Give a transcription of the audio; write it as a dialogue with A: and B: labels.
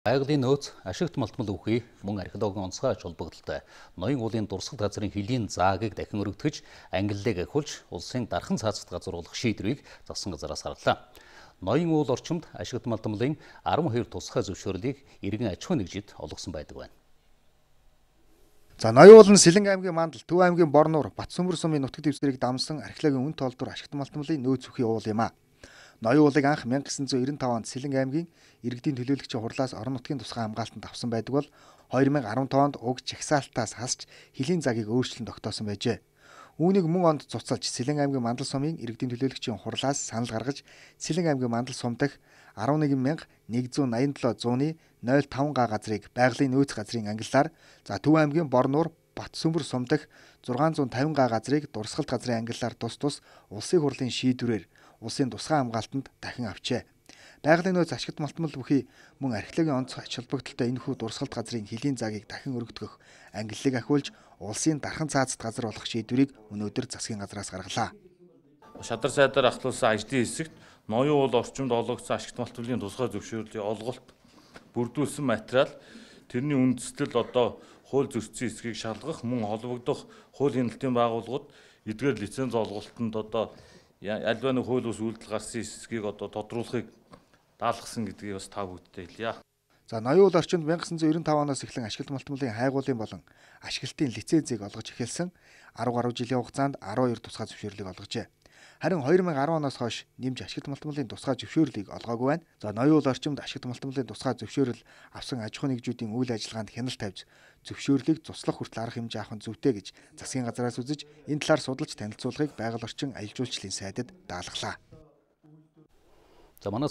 A: Байгалийн нөөц, ашигт малтмал үхий, мөн археологийн онцгой ач холбогдолтой ноён уулын дурсгал газрын хөлийн заагийг дахин өргөтгөж, ангиллыг ахиулж, улсын дархан цаазат газар болох шийдвэрийг засгийн газараас гаргалаа. Ноён уул орчимд ашигт малтмалын 12 тусгай зөвшөөрлийг иргэн аж ахуй нэгжид олгосон байдаг байна.
B: За ноён уул нь Сэлэнг аймгийн Мандал, Төв аймгийн Борнуур, Батсүмбэр сумын нутаг дэвсгэрийг дамсан археологийн үн тоолдор ашигт малтмалын нөөц үхий уул юм а. Ноён уулыг анх 1995 онд Сэлэнг аймгийн иргэдийн төлөөлөгчийн хурлаас орон нутгийн тусгай хамгаалтанд авсан байдаг бол 2015 онд уг жагсаалтаас хасч хөлийн загийг өөрчлөн тогтоосон байжээ. Үүнийг мөн онд цуцалж Сэлэнг аймгийн Мандал сумын иргэдийн төлөөлөгчийн хурлаас санал гаргаж Сэлэнг аймгийн Мандал сум дахь 11,187.005 га газрыг байгалийн нөөц газрын ангиллаар, за Төв аймгийн Борнуур, Батсүмбэр сум дахь 650 га газрыг дурсгалт газрын ангиллаар тус улсын хурлын шийдвэрээр улсын тусгай хамгаалтанд дахин авчээ. Байгалийн нөөц ашигт малтмал бүхий мөн археологийн онц ач холбогдолтой энэхүү дурсгалт газрын хөлийн заагийг дахин өргөдгөх, ангиллыг ахиулж улсын дархан цаазат газар болох шийдвэрийг өнөөдөр засгийн газраас гаргалаа.
C: Шадар сайдаар ахлуулсан ажлын хэсэгт ноён уул орчимд олгогдсон ашигт малтмалын тусгай зөвшөөрлийг олголт бүрдүүлсэн материал, тэрний үндэслэл хууль зөрчсөн эсхийг шалгах, мөн холбогдох хууль хяналтын байгууллагууд эдгээр лиценз олголтод альва нэг хууль ус үйлдэл гарсан эсхийг тодруулахыг даалгасан гэдгийг бас та бүдтэй хэлье.
B: За ноён уул орчимд 1995 оноос эхлэн ашигт малтмалын хайгуулын болон ашиглалтын лицензийг олгож эхэлсэн 10 гаруй жилийн хугацаанд 12 тусгай зөвшөөрлийг олгожээ. Харин 2010 оноос хойш нэмж ашигт малтмалын тусгай зөвшөөрлийг олгоогүй байна. За ноён уул орчимд ашигт малтмалын тусгай зөвшөөрөл авсан аж ахуй нэгжүүдийн үйл ажиллагаанд хяналт тавьж зөвшөөрлийг цуслах хүртэл арга хэмжээ авах нь зүйтэй гэж засгийн газраас үзэж энэ талаар судалж танилцуулахыг байгаль орчин аялал жуулчлалын сайдад даалгалаа.
A: За манай